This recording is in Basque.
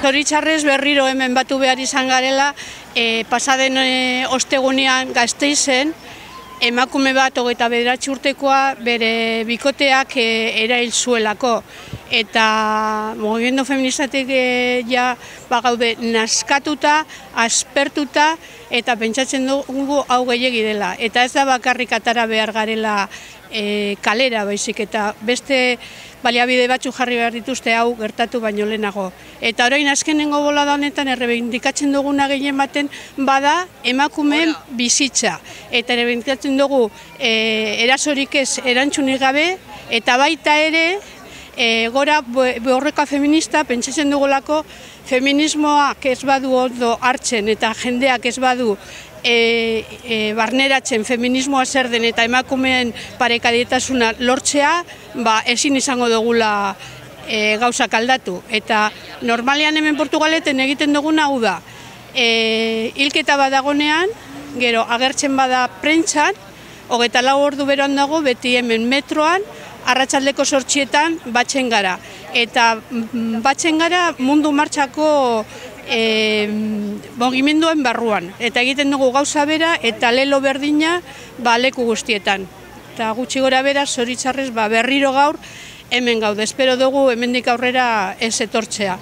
Zoritxarrez berriro hemen batu behar izan garela, pasaden ostegunean Gasteizen, emakume bat 29 urtekoa bere bikoteak erail zuelako. Eta mugimendu feministatik gaude naskatuta, aspertuta, eta pentsatzen dugu hau gehiegi dela. Eta ez da bakarrik atara behar garela kalera baizik, eta beste baliabide batzuk jarri behar dituzte hau gertatu baino lehenago. Eta orain azkenengo bolada honetan errebindikatzen duguna gehien baten bada emakumeen bizitza. Eta errebindikatzen dugu erasorik ez erantzunik gabe, eta baita ere gora borroka feminista pentsatzen dugulako feminismoak ez badu ondo hartzen eta jendeak ez badu barneratzen feminismoa zer den eta emakumeen parekadietasuna lortzea, ezin izango dugula gauzak aldatu. Eta normalean hemen Portugaleten egiten duguna hau da, hilketa badagonean, gero agertzen bada prentsan, 24 ordu beroan dago, beti hemen metroan, arratsaldeko 8etan batzen gara. Eta batzen gara mundu martxako mugimenduen barruan. Eta egiten dugu gauza bera eta lelo berdina leku guztietan. Eta gutxi gora bera, zoritxarrez berriro gaur hemen gaude. Espero dugu hemendik aurrera ez etortzea.